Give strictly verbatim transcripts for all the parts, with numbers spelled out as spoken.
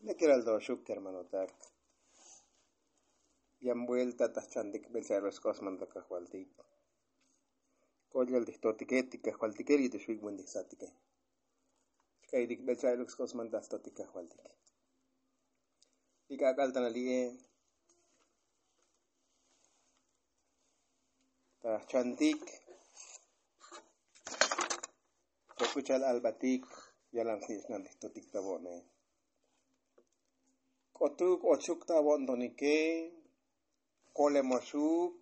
Lekeral to xuk kermanotak. Yan buelta ta jchantik bel cha'el sk'osman ta kajvaltik. Ko'yal ti jtotike ti kajvaltike li' tu xvik' buen ti jsatike. Xka'ytik bel cha'el sk'osman ta jtotik kajvaltik. Li' k'ak'al ta na li'e ta jchantik. K'uchal albatik yalan snich'nal ti jtotik ta vo'ne. K'otuk ochuk ta vo'ntonike. Kolemoxuk.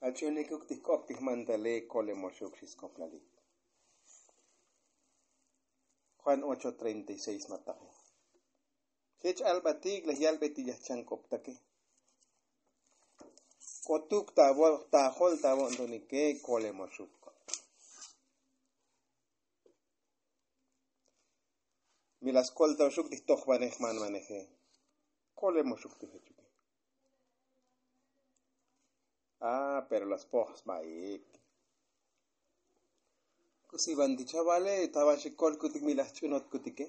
Ach'unikuk ti jk'op ti jmantale kolemoxuk xi sk'oplalik. Juan ocho treinta y seis mataqe. Jech albatik laj yalbe ti yajchank'optake. K'otuk ta vo' ta jol ta vo'ntonike kolemoxuk. Mi la skolta oxuk ti jtojvanej jmanvaneje. Kolemoxuk ti jechuke. A pero la spoj sbaik. K'usi van ti chavale ta van xi kolkutik mi la jch'unotkutike.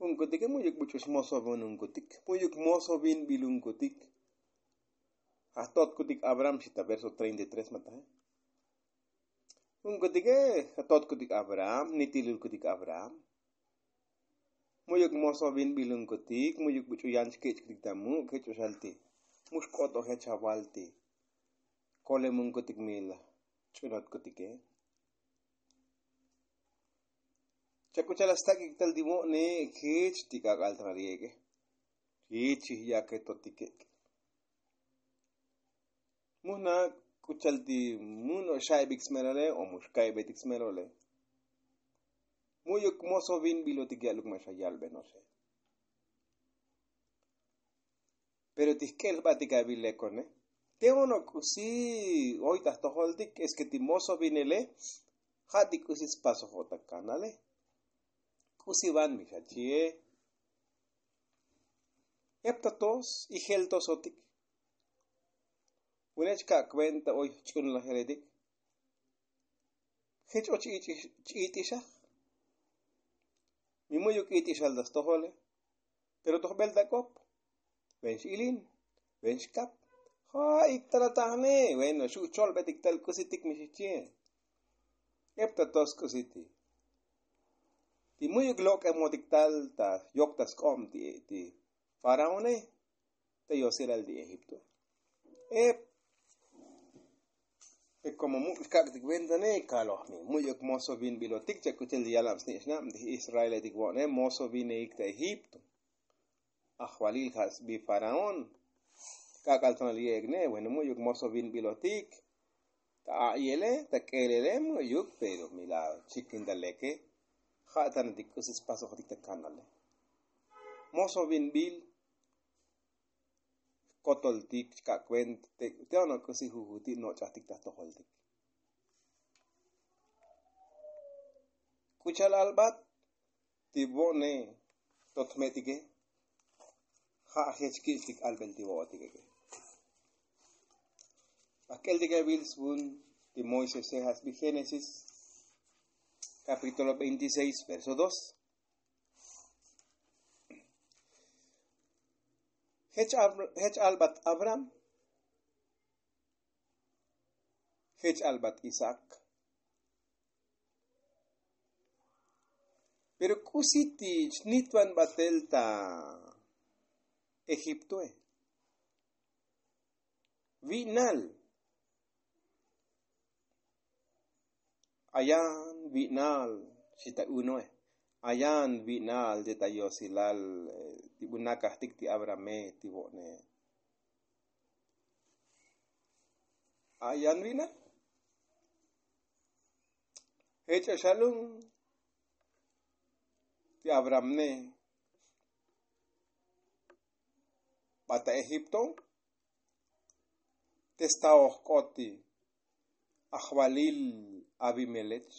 Unkutike mu'yuk buch'u smosovinunkutik mu'yuk mosovinbilunkutik. Jajtotkutik abraham xi ta verso treinta y tres mataje. Unkutike jajtotkutik abraham nitilulkutik abraham. Mu'yuk mosovinbilunkutik mu'yuk buch'u yan chkech'kutik ta muk' jech oxal ti mu xk'otoje chaval ti kolemunkutik mi la ch'unotkutike. Chak'uchal la stak'ik tal ti vo'ne jech ti k'ak'al ta na li'eke. Jech xijyake totike. Mu jna' k'uchal ti mu no'ox xa'ibik smelole o mu xka'ibik smelole. Mu'yuk mosovinbilotik ya'luk ma' xa yalbe no'oxe. Pero ti jk'el jbatik avil lekone. Te ono' k'usi oy ta jtojoltik es ke ti mosovinele ja' ti k'usi spasoj o ta kanale. K'usi van mi xachi'e. Ep ta tos ijel tosotik. Vune' chka' kuenta oy jch'unlajeletik. Jech och ch-i't'ixaj. Mi mu'yuk i't'ixal ta stojole. Pero toj bel ta k'op. Ven x'ilin. Ven xkap. Ja'ik tal atajne. Bueno xu' cholbetik tal k'usitik mi xijchi'e. Ep ta tos k'usiti. Ti mu'yuk lok'emotik tal ta yok ta sk'ob ti faraone. Ta yosilal ti egipto. Ep. Komo muk' xkak'tik ventane kaloj mi mu'yuk mosovinbilotik chak k'uchel ti yalan snich'nab ti israeletik vo'ne mosovineik ta egipto. Ajvalil ja' sbi faraón. K'ak'al tonal ye'ekne bueno mu'yuk mosovinbilotik. Ta a'yele ta k'elele mu'yuk pero mi la chikintaleke. Ja' tanatik k'usi spasojtik ta kanale. Mosovinbil jkotoltik chka' kuenta. Te ono' k'usi jujuti' noch'ajtik ta jtojoltik. K'uchal albat ti vo'ne totmetike. Ja' jech kich'tik albel ti vo'otikeke. Bajk'eltik avil svun ti moisese ja' sbi génesis kapítulo veintiséis verso dos. Jech albat abraham. Jech albat isaac. Pero k'usi ti chnitvan batel ta egiptoe. Vi'nal. Ayan vi'nal xi ta unoe. Ayan vi'nal ti ta yosilal ti bu nakajtik ti abrahame ti vo'ne. Ayan vi'nal. Jech oxalun ti abrahamne. Ba ta egipto. Te sta ojk'ot ti ajvalil abimelech.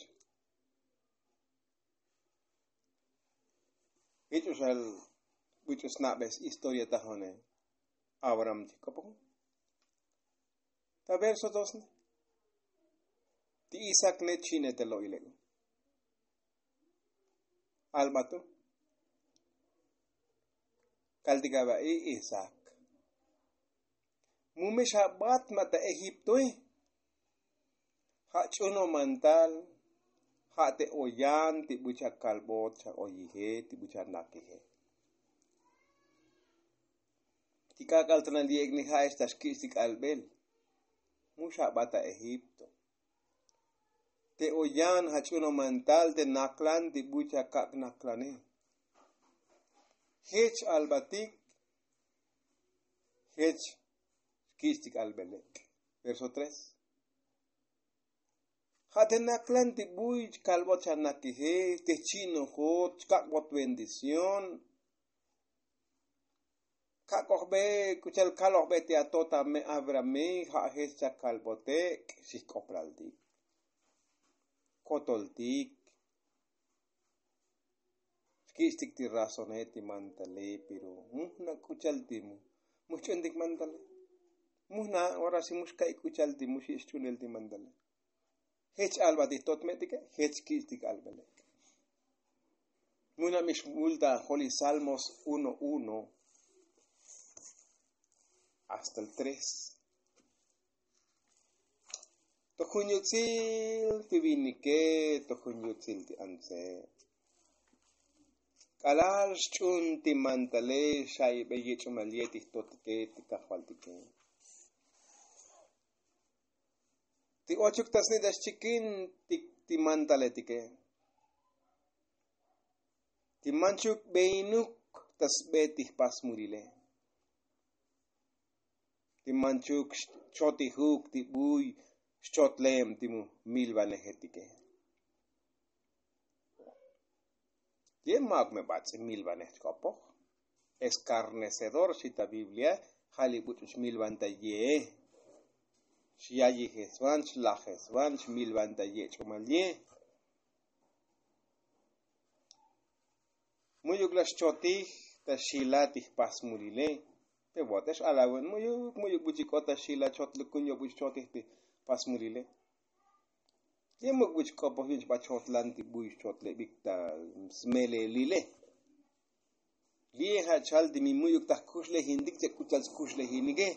Jich oxal buch'u sna'be historia tajone. Abraham ti jk'opoj ta verso dos ne. Ti isaac ne chine ta lo'ileko. Albatu kaltik aba i isak. Mu me xabat ma' ta egiptoe. Ja' ch'uno mantal ja' te oyan ti buch akalbot xa oyije ti buch anakije. Ti k'ak'al ta nal yek'ni ja' ex ta xkich' ti k'albel. Mu xabat ta egipto. Te oyan ja' ch'uno mantal te naklan ti buch akak' naklane. Jech albatik jech xkich' ti k'albelek'. Verso tres. Ja' te naklan ti buy chkalbot xa nakije te jchi'nojot chkak'bot bendición. Kak'ojbe k'uchal kalojbe ti ato ta me abrahame ja' jech chakalbotek'. Xijk'oplaltik kotoltik. Xkich'tik ti razone ti mantale pero mu jna' k'uchal ti mu mu jch'untik mantale. Mu jna' ora si mu xka'i' k'uchal ti mu xi' xch'unel ti mantale. Jech alba ti jtot me'tike jech xkich'tik albelek'. Mu jna' mi xmul ta joli salmos uno uno hasta el tres. To jun yutsil ti vinike to jun yutsil ti antse. K'alal xch'un ti mantale xaibe yech'umal ye ti jtotike ti kajvaltike. Ti ochuk ta sni' ta xchikin ti mantaletike. Ti manchuk beinuk ta sbe ti jpasmulile. Ti manchuk xchotijuk ti buy xchotlem ti milvanejetike. Ye ma'uk me bats'i milvanej chk'opoj. Eskarnecedor xi ta biblia. Ja' li buch'u chmilvan ta ye. Xyayijesvan xlajesvan chmilvan ta ye ch'umal ye. Mu'yuk la xchotij ta xila ti jpasmulile. Pe votex alawun mu'yuk mu'yuk buch'ik'o ta xila chotlukun yo buch' chotij ti jpasmulile. Ye muk buch' k'opoj yu'un chba chotlan ti buy xchotlebik ta smelelile. Li' ja' chal ti mi mu'yuk ta jkuxlejintik che k'uchal skuxlejinike.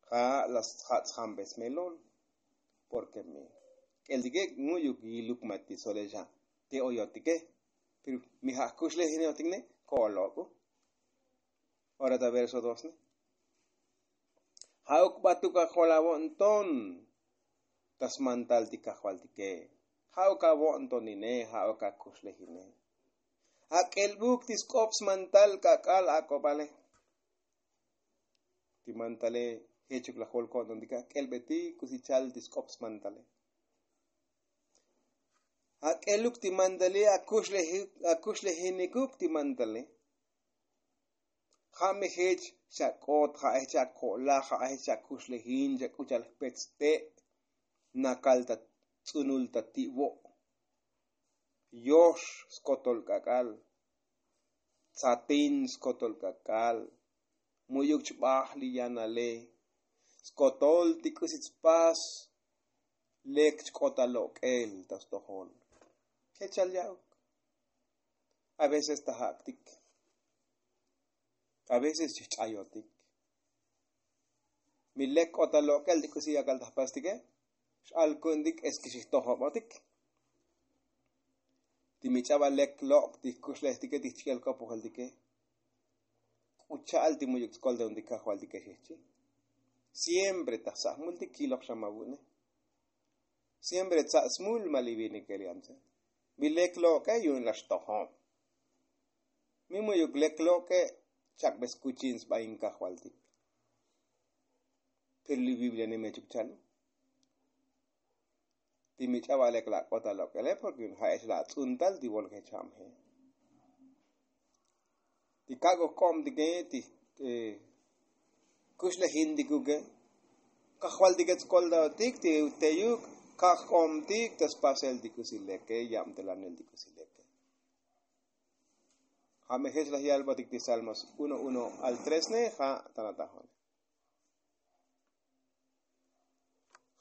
Ja' la sjat sjambesmelol. Porke mi k'eltike mu'yuk yiluk ma ti solexa te oyotike. Pero mi ja' jkuxlejinotik ne ko'olok'u. Ora ta verso dos ne. Ja'uk batuk ajol avo'nton ta smantal ti kajvaltike. Ja'uk avo'ntonine ja'uk akuxlejine. Ak'elbuk ti sk'op smantal k'ak'al ak'obale. Ti mantale jechuk lajol ko'ntontik ak'elbetik k'usi chal ti sk'op smantale. Ak'eluk ti mantale akuxlejinikuk ti mantale. Ja' me jech xak'ot ja' jech ako'laj ja' jech akuxlejin chak'uchal jpet ste'. Nakal ta tz'unul ta ti'vo'. Yox skotol k'ak'al. Tzatin skotol k'ak'al. Mu'yuk chbaj li yanale. Skotol ti k'usi tspas. Lek chk'ot ta lok'el ta stojol. Jech chal ya'uk. A veces ta jak'tik. A veces chijch'ayotik. Mi lek k'ot ta lok'el ti k'usi yakal ta jpastike. X'alku'ntik es ke xijtojobotik. Ti mi ch'aba lek lok' ti jkuxlejtike ti jchik'el k'opojeltike. K'u cha'al ti mu'yuk tskol ta un ti kajvaltike xijchi. Siempre ta jsa'jmultik kilok xa ma vu'ne. Siempre tsa' smul ma li vinike li antse. Mi lek lok'e yu'un la xtojob. Mi mu'yuk lek lok'e chak'be skuchin sba in kajvaltik. Pero li biblia ni mechuk chal. Ti mi ch'aba lek la k'ot ta lok'ele porke yu'un ja'ex la atz'untal ti volke chamje. Ti kak'o jk'obtike ti kuxlejintikuke. Kajvaltike tskoltaotik ti teyuk kak' jk'obtik ta spasel ti k'usi leke yabtelanel ti k'usi leke. Ja' me jech laj yalbotik ti salmos uno uno al tres ne ja' tana tajone.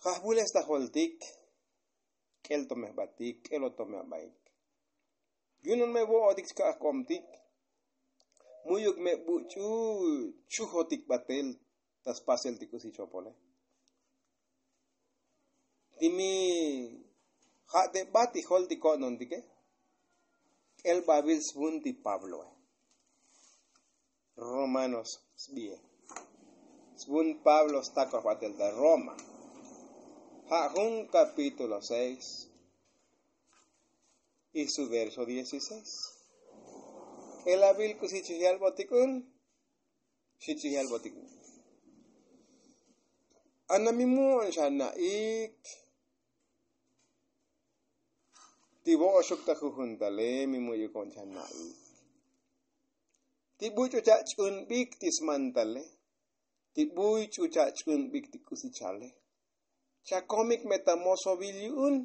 Ja' jvules ta joltik. K'el to me jbatik k'el oto me abaik. Yu'un me vo'otik chka'aj k'omtik. Mu'yuk me buch'u chujotik batel ta spasel ti k'usi chopole. Ti mi ja' te bat ti jol ti ko'nontike. K'el bavil svun ti pabloe. Romanos sbie. Svun pablo stakoj batel ta roma. Ja' jun kapítulo seis y su verso dieciséis. K'el avil k'usi chijal botik un. Xi chijal botik un. Ana mi mu'un xa na'ik. Ti vo'oxuk ta jujuntale mi mu'yuk on xa na'ik. Ti buch'u cha' ch'unbik ti smantale. Ti buch'u cha' ch'unbik ti k'usi chale. Chakomik me ta mosovil yu'un.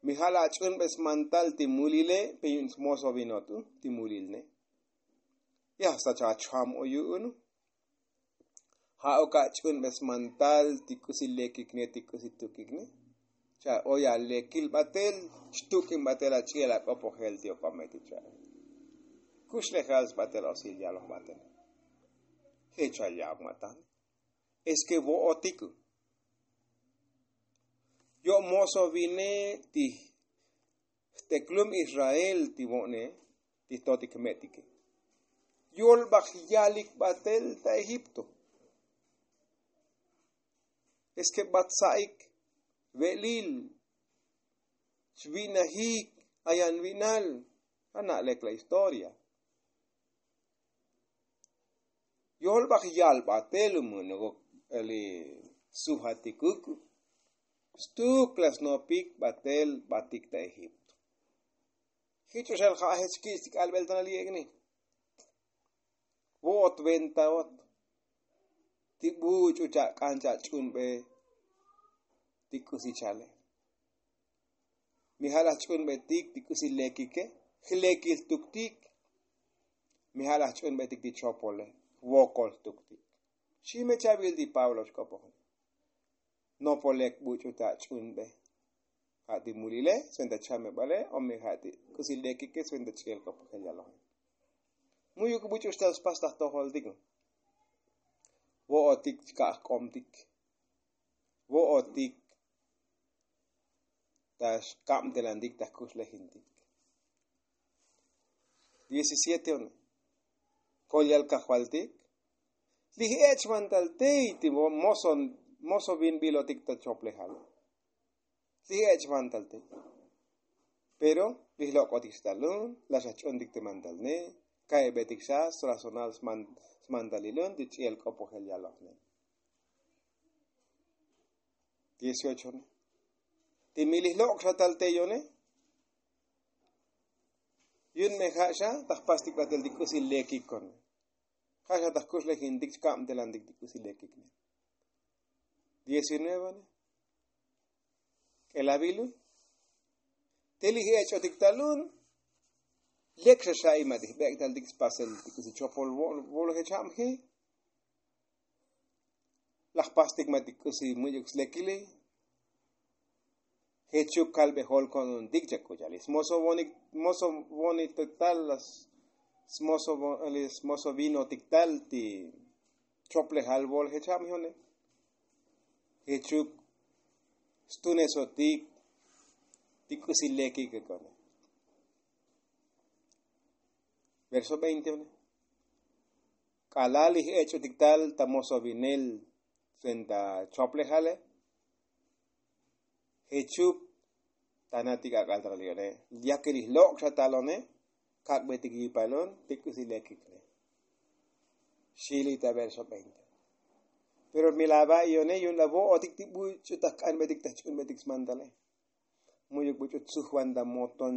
Mi ja' la ach'unbe smantal ti mulile pe yu'un smosovinot u ti mulilne. Ya hasta chacham o yu'un u. Ja' ok ach'unbe smantal ti k'usi lekikne ti k'usi tukikne. Cha' oy alekil batel xtuk'in batel ach'i'el ak'opojel ti ok'ome ti cha'e. Kuxlejal sbatel osil yaloj batel. Jech aya'ok matan. Es ke vo'otik u. Yo' moso vine ti jteklum israel ti vo'ne ti jtotik jme'tike. Yolbaj yalik batel ta egipto. Es ke bat sa'ik ve'lil chvi'najik ayan vi'nal. Ana' lek la historia. Yolbaj yal batel u mu'nuk li sujatikuk. Stuk la snopik batel batik ta egipto. Jich'u xal ja' jech ki'is ti k'albel tanal yek'ni. Vo'ot ventaot ti buch'u chak'an chach'unbe ti k'usi chale. Mi ja' laj ch'unbetik ti k'usi lekike jlekil tuktik. Mi ja' laj ch'unbetik ti chopole jvokol tuktik. Xime chavil ti pablo xk'opojon. Nopolek buch'u ta ch'unbe ja' ti mulile sventa chamebale o mi ja' ti k'usi lekike sventa ch'i'el k'opojel yaloje. Mu'yuk buch'u xtal spas ta jtojoltik. Vo'otik chka'aj k'omtik. Vo'otik ta xkabtelantik ta jkuxlejintik. Diecisiete one. Kolyal kajvaltik. Lij ech' vantal tey ti moso moso vinbilotik ta choplejal. Lij ech' vantal tey. Pero lij lok'otik xtalun la xa ch'untik ti mantalne. Ka'ebetik xa srazonal smantalilun ti ch'i'el k'opojel yalojne. Dieciocho one. Ti mi lij lok' xa tal tey one. Yu'un me ja' xa ta jpastik batel ti k'usi lekik one. Ja' xa ta jkuxlejintik chkabtelantik ti k'usi lekik ne. Diecinueve one. K'elavilu. Te lij ech'otik talun. Lek xa xa ima ti jbek'taltik spasel ti k'usi chopol volo jech jamji. Laj pastik ma ti k'usi mu'yuk slekili. Jechuk kalbe jol ko'nuntik chak'uchalis moso vonik moso vonik tal las. Smoso vinotik tal ti choplejal vol jech jab jone. Jechuk stunesotik ti k'usi lekik kone. Verso veinte one. K'alal ij ech'otik tal ta moso vinel sventa choplejale. Jechuk tanatik ak'al ta liyone. Yakil ij lok' xa talone. Kak'betik yipalon ti k'usi lekikne. Xili ta verso veinte. Pero mi lava iyone yu'un la vo'otik ti buch'u ta jk'anbetik ta jch'unbetik smantale. Mu'yuk buch'u tsujvan ta moton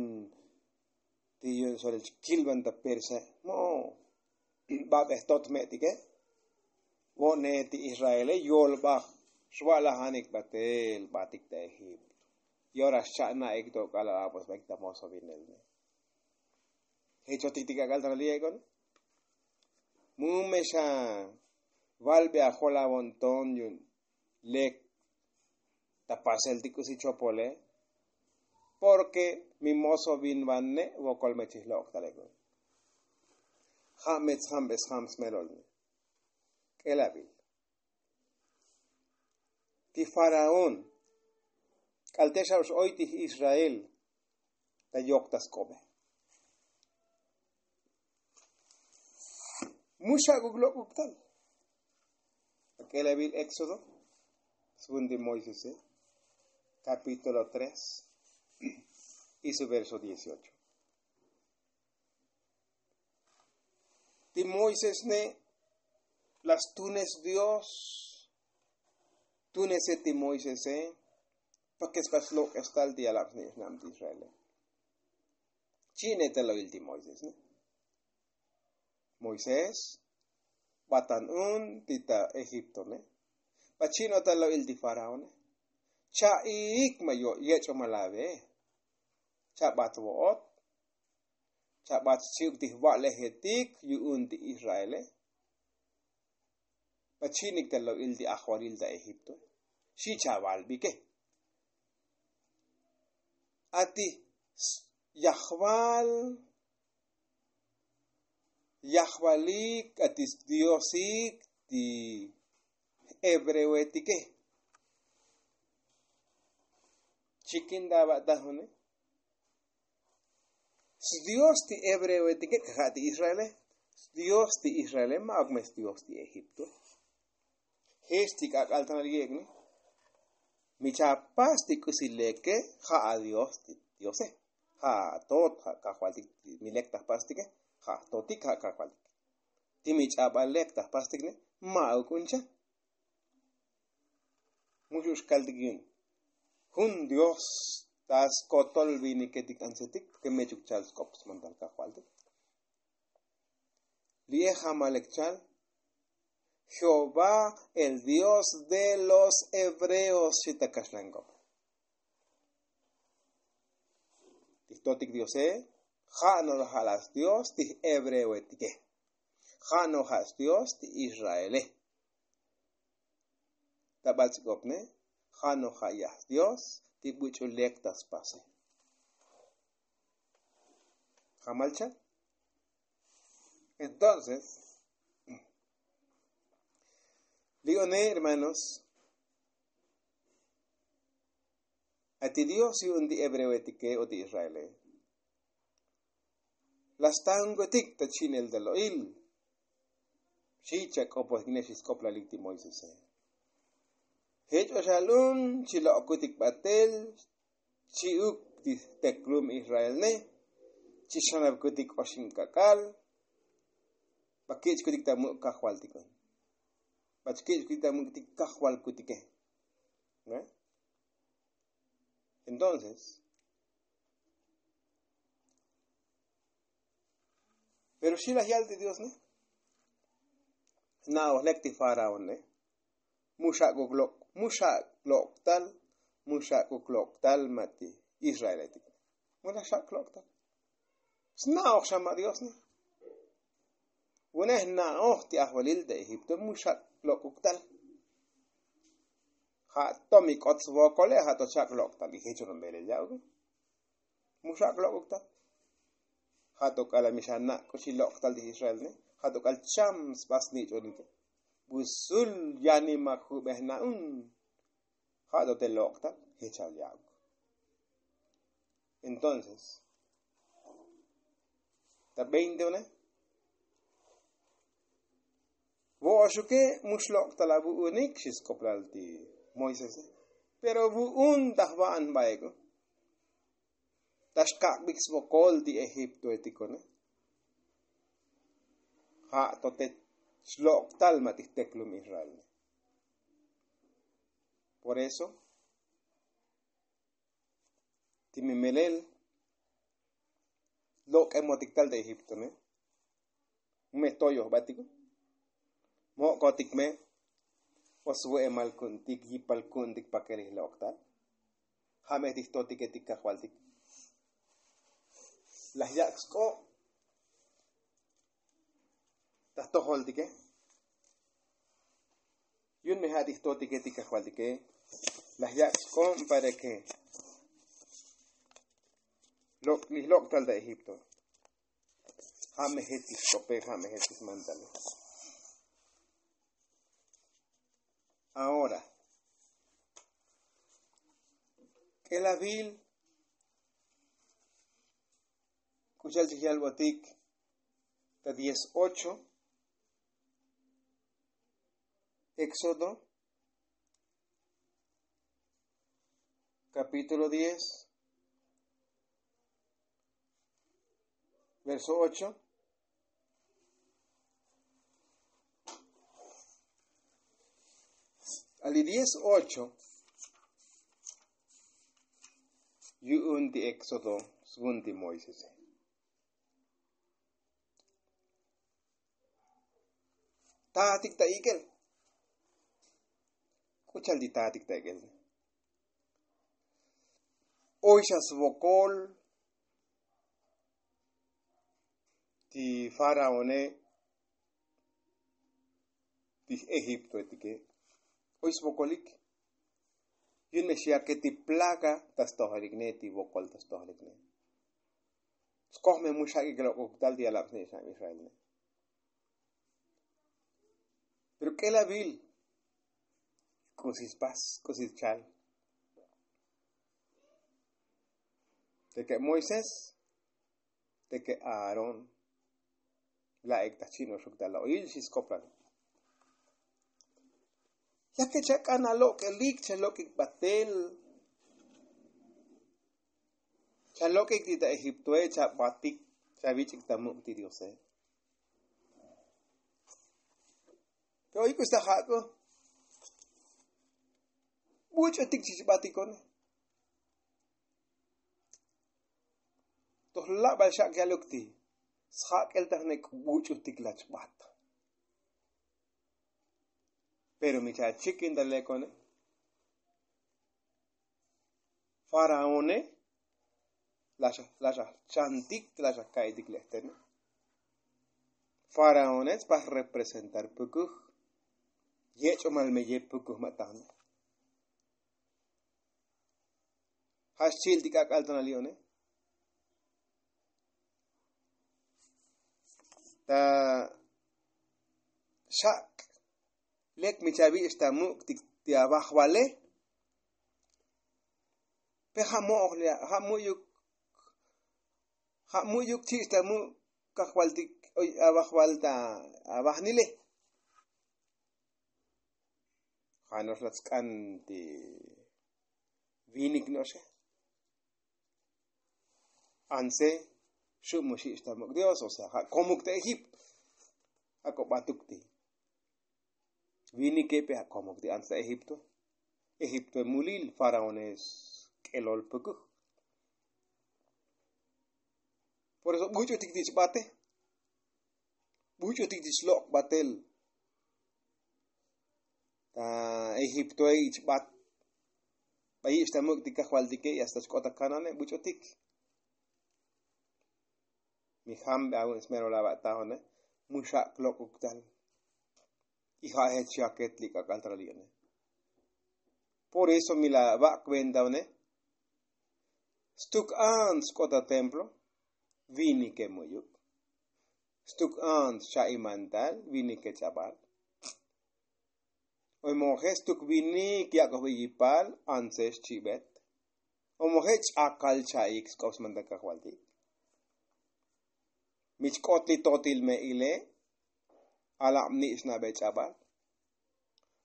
ti yu'un solel chkilvan ta perse. Mo' babej tot jme'tike. Vo'ne ti israele yolbaj xva'lajanik batel batik ta egipto. Y ora xcha'na'ik tok'al apos baik ta moso vinelne. Jechotik tik ak'al ta li'ek'on. Mu me xa valbe ajolavon ton yu'un lek ta pasel ti k'usi chopole. Porke mi moso bin vane vokol me chij lok'taleko. Ja' me tsjambesjam smelol ne. K'elabil ti faraón k'al te xa oy ti israel ta yok ta sk'obe. Mu xak'uk lok'uk tal. Ak'elabil éxodo svun ti moisese, kapítulo tres y su verso dieciocho. Ti moisés ne la stunes dios. Tunese ti moisese. Pake spas lok'es tal ti yalab sni'ix na'am ti israele. Chi'ne ta lo'il ti moisés ne. Moisés, batan un ti ta egipto ne. Ba chi'no ta lo'il ti faraón ne. Cha'iik ma yech'o ma lave. Chabat vo'ot. Chabat xchi'uk ti jva'lejetik yu'un ti israele. Ba chi'nik ta lo'il ti ajvalil ta egipto. Xi chavalbike. Ati yajval yajvalik ati sdiosik ti hebreoetike. Chikin ta va'tajune. Sdios ti hebreoetike kaja' ti israele. Sdios ti israele ma'uk me sdios ti egipto. Jech ti k'ak'al tanal yek'ni. Mi chapas ti k'usi leke ja' adios ti diose. Ja' atot ja' kajvaltik. Mi lek ta jpastike ja' jtotik ja' kajvaltik. Ti mi ch'abal lek ta jpastik ne. Ma'uk un cha. Muxu'ux kaltik yu'un jun dios ta skotol viniketik antsetik porke mechuk chal sk'op smantal kajvaltik. Li'e jamalek chal jehová el dios de los hebreos xi ta kaxlank'op. Ti jtotik diose ja' no ja' la sdios ti jhebreoetike. Ja' no ja' sdios ti israele. Ta bats'ik'opne ja' no ja' yaj sdios ti buch'u lek ta spase. Jamal cha. Entonces li'one hermanos, ati dios yu'un ti hebreoetike o ti israele. La stankotik ta chi'nel ta lo'il. Xi chak'opotik ne xi sk'oplalik ti moisese. Jech oxalun chi lok'kutik batel chi'uk ti teklum israel ne. Chi xanapkutik oxin k'ak'al. Ba kich'kutik ta muk' kajvaltik un. Ba chi kich'kutik ta muk' ti kajvalkutike. Entonces pero xi laj yal ti dios ne. Sna'oj lek ti faraón ne. Mu xak'uk lok' mu xak' lok'tal. Mu xak'uk lok'tal ma' ti israeletik. Mu laj xak' lok'tal. Sna'oj xa ma' dios ne. Vune jna'oj ti ajvalil ta egipto mu xak' lok'uk tal. Ja' to mi k'ot svokole ja' to xak' lok'tal y jech ronbelel ya'uk. Mu xak' lok'uk tal. Ja' to k'ala' mi xana' k'uxi lok'tal ti israel ne. Ja' to k'al cham sba snich'onike. Busul yanima jube jna'un. Ja' to te lok'tal jechal ya'uk. Entonces ta veinte une. Vo'oxuke mu xlok'tal avu'unik xi sk'oplal ti moisese. Pero vu'un ta jva'an baeku. Ta xkak'bik svokol ti egiptoetiko ne. Ja' to te xlok'tal ma' ti jteklum israel ne. Por eso ti mi melel lok'emotik tal ta egipto ne. Me toyojbatik. Mo'kotik me o svu'emal ku'untik yipal ku'untik pakerij lok'tal. Ja' me ti jtotiketik kajvaltik. Laj yak' sk'o' ta jtojoltike. Yu'un me ja' ti jtotiketik kajvaltike. Laj yak' sk'o'm pareke Lok' li lok' tal ta egipto. Ja' me jech li xk'ope ja' me jech li xmantale. Ahora k'elavil k'uxal chik yalbotik ta dieciocho éxodo capítulo diez verso ocho. Ali dieciocho yu'un ti éxodo svun ti moisese. Tatik ta ik'el. K'uchal ti tatik ta ik'el. Oy xa svokol ti faraone ti egiptoetike. Oy svokolik. Yu'un me xyake ti plaga ta stojelikne ti vokol ta stojelikne. Skoj me mu xak'ik lok'uk tal ti yalab sni'xnab israelne. Pero k'elavil k'usi spas k'usi schal. Teke moisés teke aarón. La'ik ta chin oxuk ta la'oyil xi skoplan. Yake chak'an alok'elik chalok'ik batel. Chalok'ik ti ta egiptoe chabatik chavich'ik ta muk' ti diose. Pero oy k'usi ta jak'o buch'utik chich batikone. Toj labal xak' yaluk ti sjak'el ta jne k'ubuch'utik lach bat. Pero mi chachikintale kone faraone laxa chantik laxa ka'itik le'tene. Faraone spas representar pukuj. Yech'omal me ye pukuj ma' tajne. Ja' xchi'il ti k'ak'al ta nali'one. Ta xak' lek mi chavich' ta muk' ti avajvale. Pe ja' mo'oj ja' mu'yuk ja' mu'yuk chich' ta muk' kajvaltik avajval ta avajnile. Ja' no'ox la tsk'an ti vinik no'oxe. Anse xu' mu xich' ta muk' dios o sea ja' komuk ta egipto. Ja' kobatuk ti vinike pe ja' komuk ti anse ta egipto. Egiptoe mulil faraones k'elol pukuj. Por eso buch'utik ti chbate. Buch'utik ti xlok' batel ta egiptoe ichbat. Ba yich' ta muk' ti kajvaltike y hasta chk'ot ta kanane buch'utik. Mi jambe avun smero lava' tajone. Mu xak' lok'uk tal. Y ja' jech xyaket li k'ak'al tal ali'one. Por eso mi la va' kuentaone. Stuk ants k'ot ta templo. Vinike mu'yuk. Stuk ants xa' imantal vinike ch'abal. Oy moje' stuk vinik yak'oj be yipal antse xchibet. Oy moje' ch'akal cha'ik sk'op smantal kajvaltik. Mi chk'ot li totil me'ile. Alab ni' xnabe ch'abal.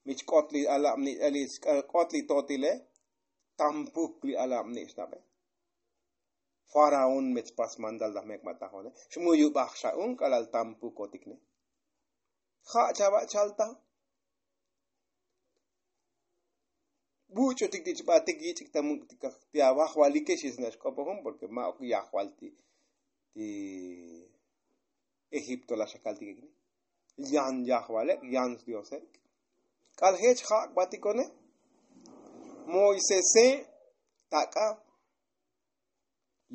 Mi chk'ot li alab ni' li chk'ot li totile. Tampuk li alab ni' xnabe. Faraón me chpas mandal ta jmek ma' tajone xmuyubaj xa'un k'alal tampukotikne. Ja' chava' chalta. Buch'utik ti chbatik yich'ik ta muk' ti avajvalike xisna' xk'opojun porke ma'uk yajval ti ti egipto la xakaltikekne. Yan yajvalek yan sdiosek. K'al jech ja' kbatikone. Moisese tak'a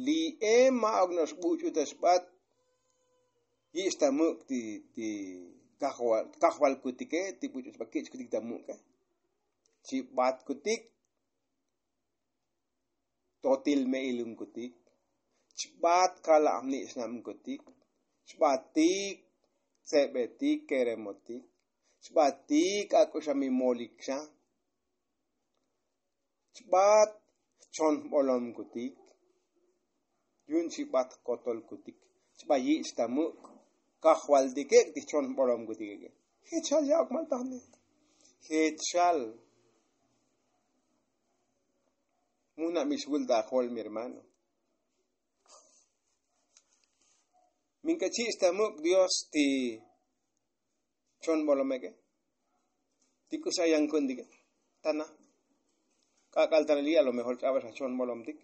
li'e ma'uk no'ox buch'u ta xbat. Yich' ta muk' ti ti kajvalkutike ti buch'u xbat kich'kutik ta muk'e. Chibatkutik. Totil me'ilunkutik. Chbat kala'am ni' xnabkutik, chbatik tsebetik keremotik, chbatik ak'uxa mi molik xa, chbat chon jbolomkutik, yu'un chi bat jkotolkutik, chba yich' ta muk' kajvaltike' ti chon jbolomkutike'. Jech xal ya'ok maltajne, jech xal. Muna' mixvul ta ajol mi hermano. Min k'a chich' ta muk' dios ti chon bolomeke', ti k'usi ayan ku'untike'. Tana k'ak'al tanali a lo mejor ch'abal xa chon bolomtik.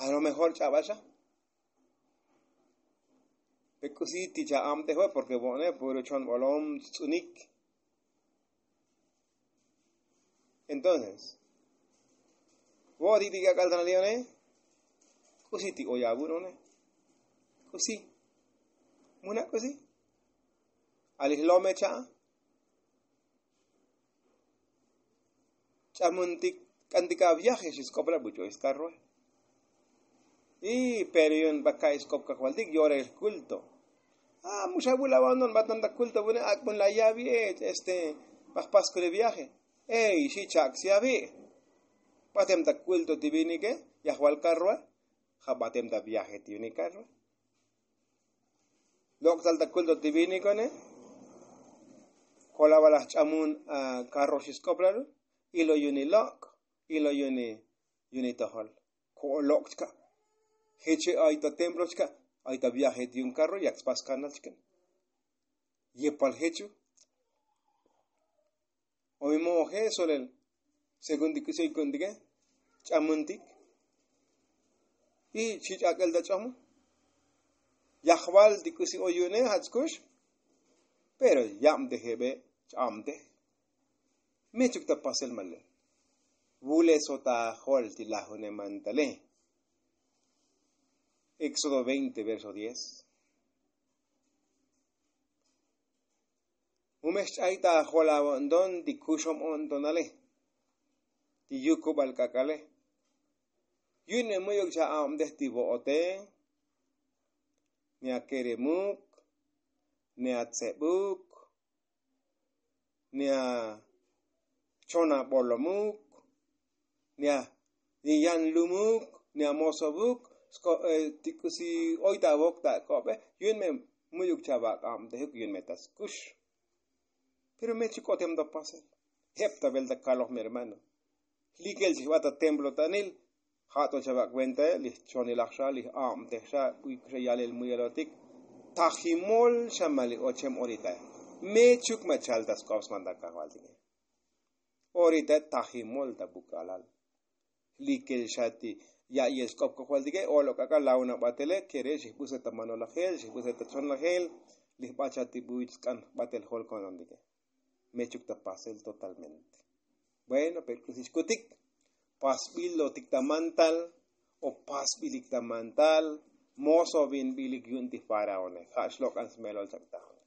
A lo mejor ch'abal xa. Pe k'usi ti cha'abtej we' porke bo'one puro chon bolom tz'unik. Entonces vo'otik ti k'ak'al tanali one, k'usi ti oy avun one? K'usi? Muna' k'usi? Alij lome cha'a ch'amuntik, k'antik aviaje xisk'opla buch'oy skarroe. Y pero yu'un ba ka'i sk'op kajvaltik yorel jkulto. A muxa vul abandono batem ta kulto vune ak'bun la yavi e este, ba jpaskule viaje. Ey xi chak' si avi'. Batem ta kulto ti vinike, yajval karroe. Ja' batem ta viaje ti yu'un ikarroe. Lok'tal ta kulto ti vinikone. Kolavalaj ch'amun a karro xisk'oplalu. Ilo yu'un ilok', ilo yu'un itojol. Ko'olok' chka'. Jeche' ay ta templo chka', ay ta viaje ti yu'un karro yak spas kanal chka'. Yepal jechu. O mi mo'oje solel según ti k'usi oy ku'untike, ch'amuntik. Y chich' ak'el ta ch'omo. Yajval ti k'usi oy yu'une ja' tskux. Pero yabtejebe' ch'abtej. Mechuk ta pasel male. Vuleso ta ajol ti lajune mantale. Éxodo veinte verso diez. Mu me xch'ay ta ajol avo'nton ti kuxom o'ntonale, ti yukubal k'ak'ale. Yu'un me mu'yuk cha'abtej ti vo'ote, ni akeremuk, ni atsebuk, ni achon abolomuk, ni a ni yan lumuk, ni amosobuk. Ti k'usi oy ta avok ta ak'obe, yu'un me mu'yuk chavak'abtejuk, yu'un me ta skux. Pero me chuk'otem ta pasel. Jep ta vel ta kaloj mi hermano. Likel chijbat ta templo tanil. Ja' to chava' kuentae li jchonilaj xa, li j'abtej xa, buik xa yalel muyelotik. Tajimol xa ma li ochem oritae. Me chuk ma chal ta sk'op sman ta kajvaltike. Oritae tajimol ta buk'alal. Likel xa ti ya'iyel sk'op kajvaltike, o'lok k'ak'al launa batele kere' xijbuse ta manolajel, xijbuse ta chonlajel. Li jbat xa ti buy sk'an jbatel jol konontike. Mechuk ta pasel totalmente. Bueno, pero k'usi xkutik, pasbilotik ta mantal o pasbilik ta mantal, mosovinbilik yu'un ti faraone. Ja' xlok'an smelol chak ta jun.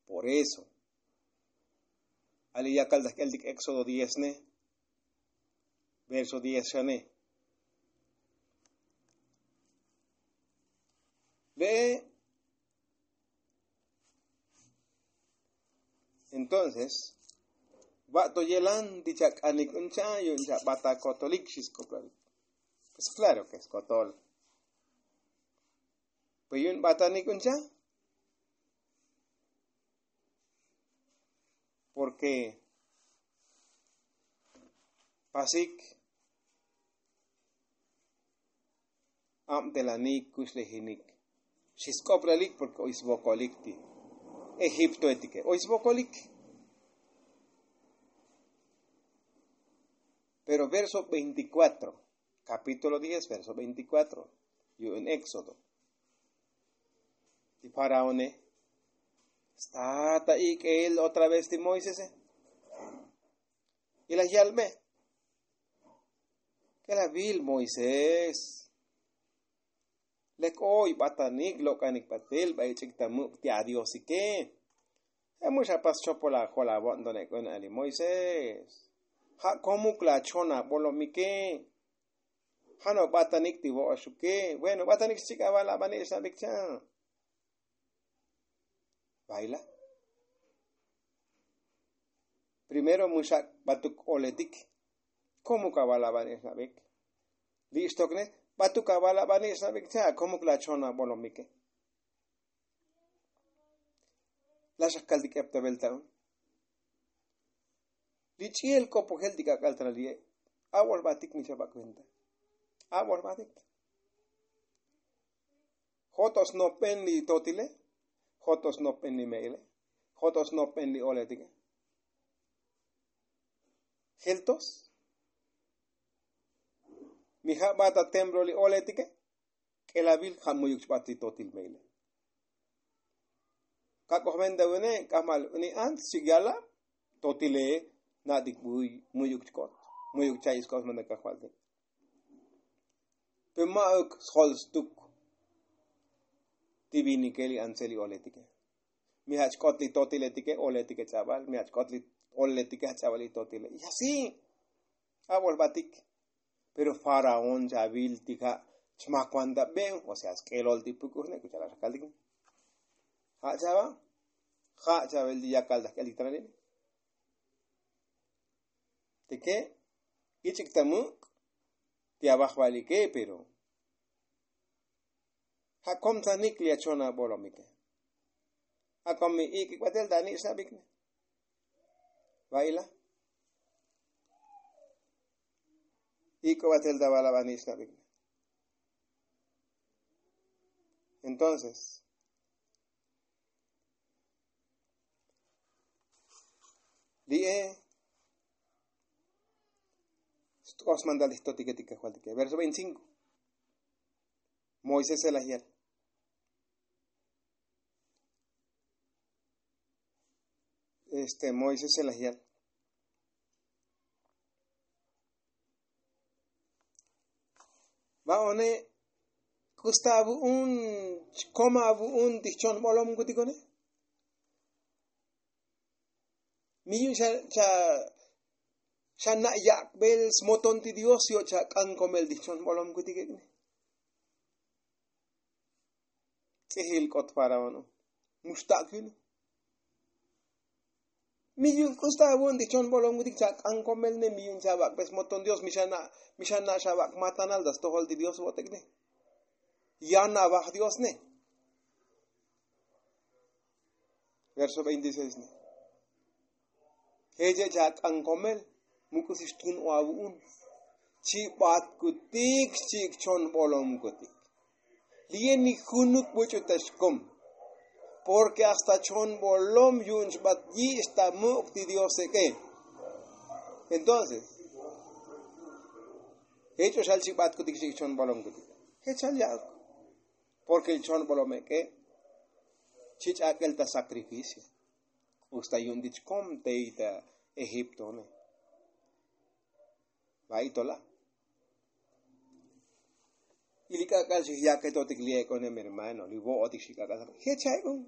Por eso ali yakal ta jk'eltik éxodo diez ne, verso diez xane. Ve'e entonces, va' to yelan ti chak'anik un cha' yu'un chabat ta kotolik xi sk'oplalik. Pues klaro ke skotol. Pues yu'un batanik un cha', porke pasik abtelanik kuxlejinik. Xi sk'oplalik porke oy svokolik ti egiptoetike, oy svokolik. Pero verso veinticuatro, kapítulo diez verso veinticuatro, yu'un éxodo. Ti faraone sta ta ik'el otra vez ti moisese. Y laj yalbe, k'el avil moisés, lek oy batanik lok'anik batel ba ich'ik ta muk' ti adiosike. Emu xa pas chopol ajol avo'nton ek'un ali moisés. Ja' komuk la chon abolomike. Ja' no batanik ti vo'oxuke. Bueno, batanik xchik' aval abani' xnabik cha'. Baila. Primero muxak' batuk oletik. Komuk aval abani' xnabik. Li' xtokne batuk aval abani' xnabik cha'. Komuk la chon abolomike. La xakkaltik eptavel ta'un. Li ch'i'el k'opojel ti k'ak'al ta li'e. Abolbatik mi chabak venta. Abolbatik. Jotos nopben li totile. Jotos nopben li me'ile. Jotos nopben li oletike. Jeltos. Mi ja' bata templo li oletike. K'elavil ja' muyuk chbat li totil me'ile. Kak'oj venta vene k'ajmal ni ants chik yala. Totile. Na'tik buy muyuk chkot. Muyuk cha'i sk'os manda kajvaltik. Pe ma'uk sjol stuk. Ti vinike li antse li oletike. Mi jach k'ot li totiletike oletike ch'abal mi jach k'ot li oletike jach ch'abal li totile y asi. Abolbatik. Pero faraón chavil ti ja' chmakwanta be. O sea sk'elol ti puk'ujne kuchalaxakaltik. Ja' chava. Ja' chavel ti yakal ta jk'eltik tananine. Tike ich'ik ta muk' ti avajvalike pero ja' komtsanik li achon abolomike. Akom mi ik'ik batel ta ani' xnabikne. Vaila. Ik'o batel ta aval abani' xnabikne. Entonces li'e. Xt'os mandal ti jtotike ti kajvaltike verso veinticinko. Moisés elajyal. Este moisés elajyal. Va'one k'usta avu'un. Chkoma avu'un ti jchon bolomkutikone. Mi yu'un xa xa na' yak'bel smoton ti dios yo' chak'an komel ti jchon bolomkutik ek'ne. Ts'ijil k'ot faraón. Muxtak' yune. Mi yu'un k'usta avu'un ti chon bolomkutik chak'an komelne mi yu'un chavak'be smoton dios mi xa na' xavak' matanal ta stojol ti dios vo'otekne. Yan avaj diosne. Verso veintiseis ne. Jech e' chak'an komel. Mu k'usi xtun o avu'un. Chi'batkutik xchi'ik chon bolomkutik. Li'e ni junuk buch'u ta xkom. Porke hasta chon bolom yu'un chbat yich' ta muk' ti dios ek'e. Entonces jech o xal chi'batkutik xchi'ik chon bolomkutik. Jech xal ya'uk. Porke li chon bolom ek'e chi ch'ak'el ta sakrificio. K'usta yu'un ti chkom tey ta egiptone. Va'i tola. Y li k'ak'al xijyaketotik li ek'one mi hermano li vo'otik xik'ak'al jech a ek'on.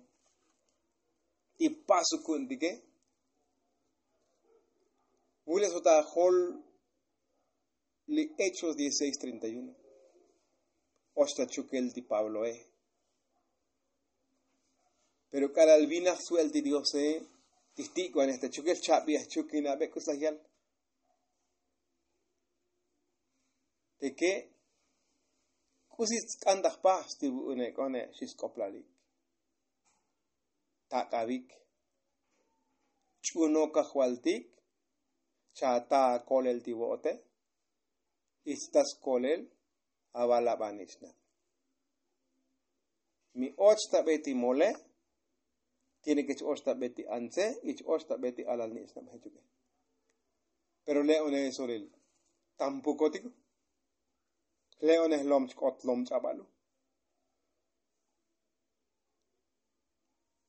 Ti pasuku'untike. Vules ota jol li hechos dieciseis treinta y uno. Och ta chukel ti pabloe. Pero k'alal vinaj su'el ti diose ti jtik'vanej ta chukel chabi' ajchuk inabe k'us laj yal. Teke k'usi tsk'an ta jpaj sti vu'une k'one xi sk'oplalik. Tak'avik. Ch'unok ajvaltik. Chata akolel ti vo'ote. Ichta skolel. Aval abani' xna'. Mi och ta be ti mole. Tiene ke ch-och ta be ti antse y ch-och ta be ti alal ni' xna' jechuke. Pero le'one solil tampoko tiko. Le'one jlom chk'ot lom ch'abalo.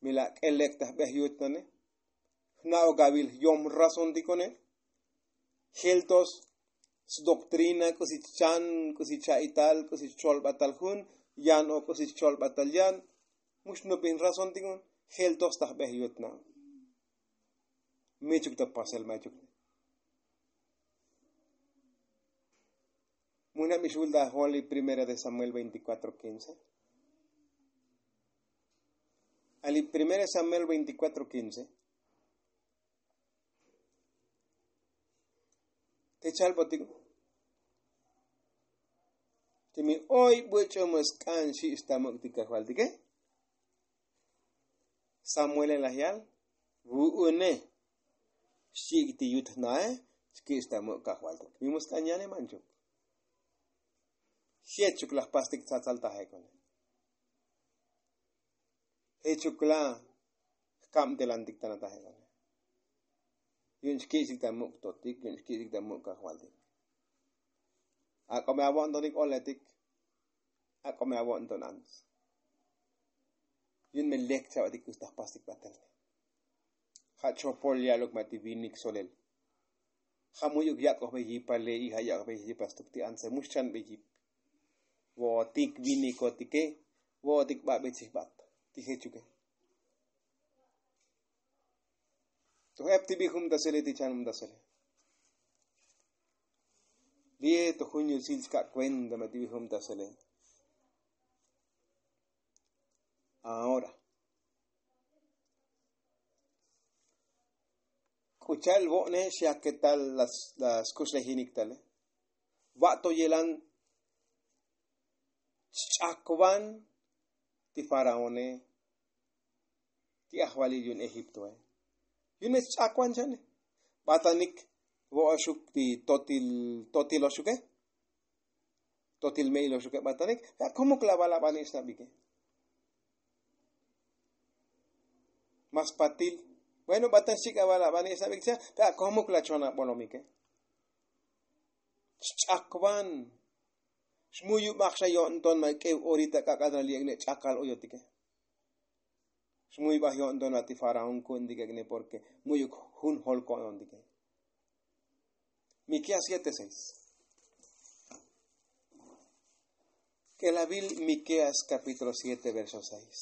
Mi la k'elek ta jbe jyutnane. Jna'ok avil jyom razontikone. Jeltos sdoktrina k'usi chchan k'usi cha'ital k'usi cholbatal jun. Yan o k'usi cholbatal yan. Mu xnupin razontikon. Jeltos ta jbe jyutna. Michuk ta pasel machuk. Mujnab ixul ta jol li primera de samuel veinticuatro quince. Ali primera de samuel veinticuatro quince. Te chalbotik. Timi oy buch'u mu sk'an xi' xtamuk' ti kajvaltike. Samuele laj yal vu'une xchi'ik ti yut jnae. Xki' xtamuk' kajvaltik mi mu sk'an yane manchuk. Jechuk laj pastik tsatsal taje kone. Jechuk la jkabtelantik tana taje kone. Yu'un xki'xik ta muk' totik yu'un xki'xik ta muk' kajvaltik. Ak'o me avo'ntonik oletik. Ak'o me avo'nton ants. Yu'un me lek chavatik k'ux ta jpastik batel. Ja' chopol ya'luk ma' ti vinik solel. Ja' mu'yuk yak'ojbe yipale y ja' yak'ojbe yipa stuk ti antse mu xchanbe yip. Vo'otik vinikotike vo'otik ba'be tzijbat ti jechuke. Toj ep ti bijum ta sele ti chanum ta sele. Lie toj jun yusil chka' kuenta ma' ti bijum ta sele. Ahora k'u cha'el vo'ne xyaketal la skuxlejinik tale. Va'to yelan chch'akvan ti faraone ti ajvalil yu'un egiptoe. Yu'un me chch'akvan chane. Batanik vo'oxuk ti totil totiloxuke. Totil me'iloxuke batanik. Pe akomuk la val abani' xnabike. Mas patil. Bueno batan xchik' aval abani' xnabik cha pe akomuk la chon abolomike. Xch'akvan. Xmuyubaj xa yo'nton ma' k'ev orita k'ak'al na li' ek'ne ch'akal oyotike. Xmuybaj yo'nton ma' ti faraón ku'untik ek'ne porke mu'yuk jun jol ko'nontike. Mikeas siete seis. K'elavil mikeas kapítulo siete verso seis.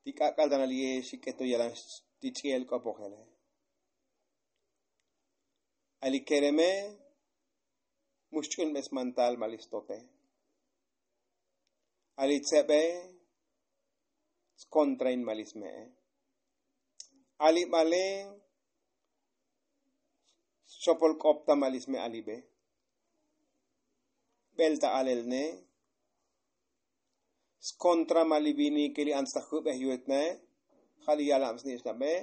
Ti k'ak'al ta na li' ye xik'eto yalan ti ch'i'el k'opojele. Ali kereme mu xch'unbe smantal ma' li stote. Ali tsebe skontrain ma' li sme'e. Ali bale xchopol k'op ta ma' li sme' alibe. Bel ta alelne skontra ma' li vinike li ants ta jubej yutnae. Ja' li yalab snich'nabe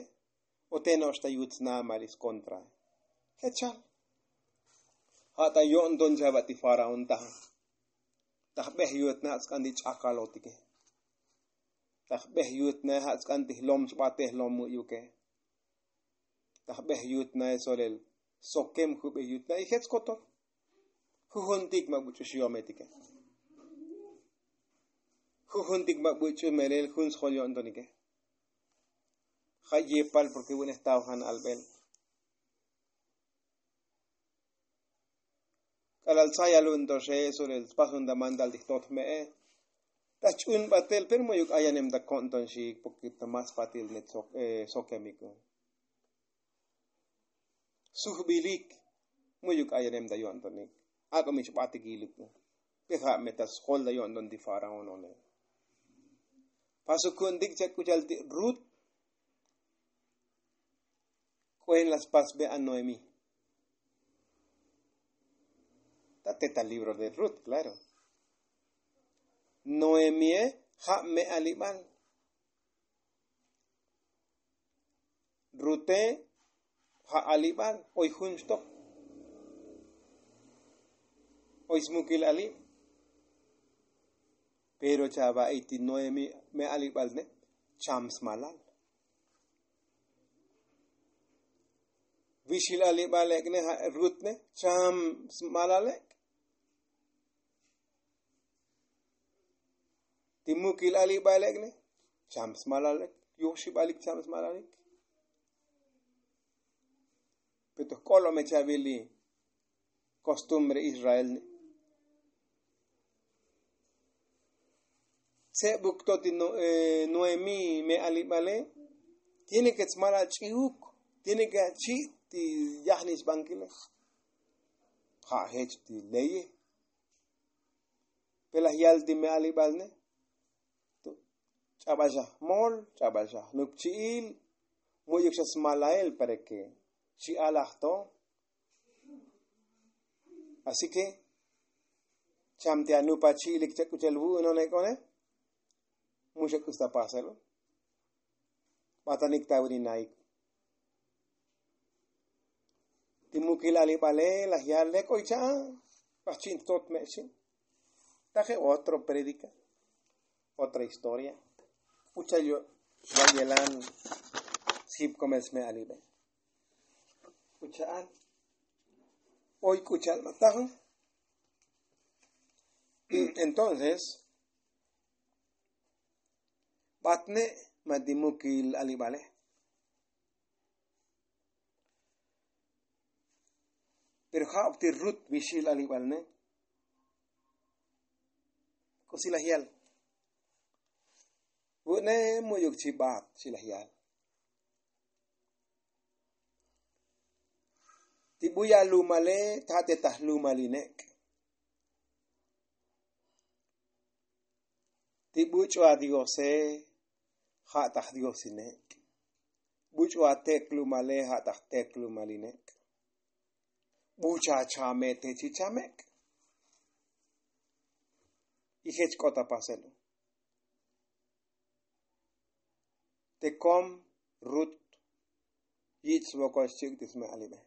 o te no'ox ta yut sna ma' li skontrae. Jechal ja' ta yo'nton chava' ti faraón taja. Ta jbej yutnae ja' tsk'an ti ch'akalotike. Ta jbej yutnae ja' tsk'an ti jlom chbate jlom mu'yuke. Ta jbej yutnae solel sokem jubej yutnae y jech kotor. Jujuntik ma' buch'u xyometike. Jujuntik ma' buch'u melel jun sjol yo'ntonike. Ja' yepal porke vu'une jtaojan albel. K'alal tsa yalun to xe solel tspasun ta mandal ti jtot jme'e. Ta jch'un batel pero mu'yuk ayanem ta ko'nton xiik porke ta mas patil ne sokemik. Sujbilik mu'yuk ayanem ta yo'ntonik. Ak'o mi chbatik yilik. Pe ja' me ta sjol ta yo'nton ti faraón one. Pasu ku'untik cha k'u cha'al ti rut. K'uen la spasbe a noemí. Ta teta libro de rut klaro. Noemíe ja' me alibal. Rute ja' alibal oy jun xtok. Oy smukil alib. Pero chava'i ti noemí me alibal ne cham smalal. Vixil alibal ek'ne ja' rut ne cham smalal ek'. Ti mukil alibal ek'ne cham smalal ek' yoxibalik cham smalalik. Pe to jk'olome chavili kostumbre israel ne. Tse' buk to ti noemí me alibale. Tiene ke tsmalal ch'iuk. Tiene ke achi' ti yajnixbankile. Ja' jech ti leye. Pe laj yal ti me alibal ne. Ch'abal xa jmol, ch'abal xa jnupchi'il. Mu'yuk xa smalael para ke xi alaj to. Así ke cham ti anupachi'ilik chak k'uchel vu'unon ek'one. Mu xa k'us ta paselo. Batanik ta vin inaik. Ti mukil alibale laj yal lek oy cha'a. Bajchi'in tot me' xi'. Taje otro prédika, otra historia. K'uchal yo' va' yelan sjip komel sme' alibe. K'ucha'al oy k'ucha'al ma tajo. Entonces batne ma ti mukil alibale. Pero ja'uk ti rut vixil alibal ne. K'usi laj yal vu'ne mu'yuk chi bat xi laj yal. Ti buya' lumale ja' te ta jlumal inek'. Ti buch'u adiose ja' ta jdios inek'. Buch'u atek lumale ja' ta jtek lumal inek'. Bucha chame te chi chamek'. Y jech k'ot ta paselo. Te kom rut yich' svokol xchi'uk ti sme' alibe.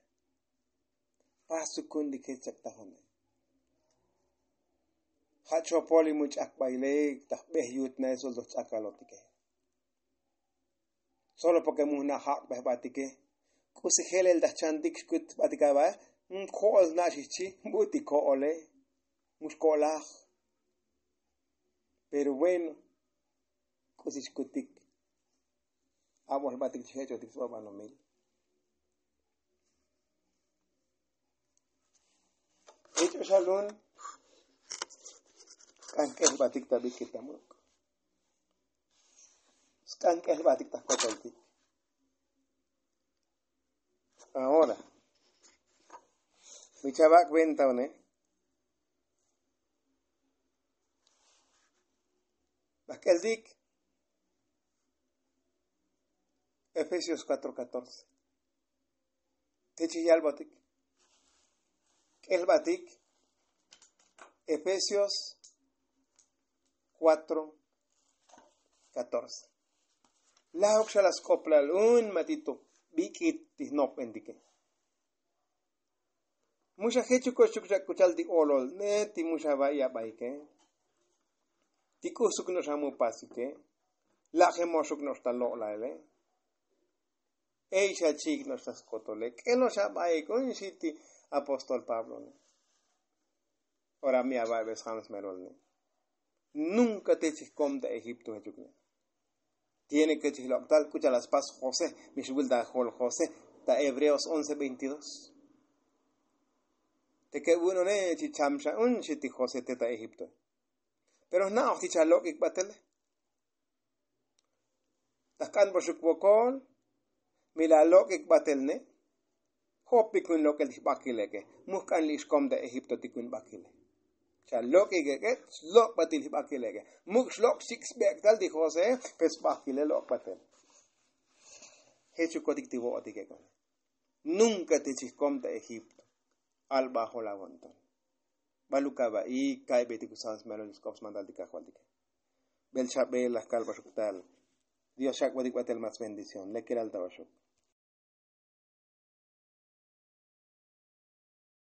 Pasukun li kech chak tajone. Ja' chopol li mu ch'akbaile ta jbej yutnael sol toj ch'akalotike. Solo porke mu jna' jak'bej batike. K'usi jelel ta jchantik xkut batik avae. Jo'ol na' xijchi. Bu'tik jo'ole. Mu xko'laj. Pero bueno, k'usi xkutik. Abol batik chi jech'otik sba banomil. Jech'o xalun. Sk'an k'ejbatik ta bik'it ta muk'. Sk'an k'ejbatik ta jkotoltik. Ahora mi chava' cuenta one. Bajk'eltik Efesios cuatro catorce. Te chi yalbotik k'ejbatik Efesios cuatro catorce. Lajok xa la sk'oplal un ma ti to bik'it ti jnopbentike. Mu xa jechuko xchuk xa k'uchal ti olol ne ti mu xa va'i abaike. Ti k'usuk no'ox amu pasike. Laje moxuk no'ox ta lo'laele. Ey xa chi'ik no'ox ta skotole k'el no'ox abaik un xi ti apóstol pablo ne. Ora mi ava'i be sjam smelol ne. Nunka te chijkom ta egipto jechuk ne. Tiene ke chijlok' tal k'uchal la spas josé. Mi xvul ta jol josé ta hebreos once veintidós. Te ke vu'unone chi cham xa un xi ti josé te ta egipto. Pero jna'oj ti chalok'ik batele. Ta jk'anboxuk vokol mi la lok'ik batel ne. Jopik jun lok'el ti jbakileke. Mu jk'an li' xkom ta egipto ti jun bakile. Chalok'ik eke. Slok' batil jbakileke. Muk' xlok' xchik' sbek'tal ti josé. Pe sbakile lok' batel. Jechukotik ti vo'otik eke. Nunka ti chijkom ta egipto. Albajol avonton. Baluk ava'i ka'ybetik usam smelol sk'op smantal ti kajvaltike. Bel chabel laj kalbaxuk tal. Dios xak'botik batel mas bendición lekelal ta oxok.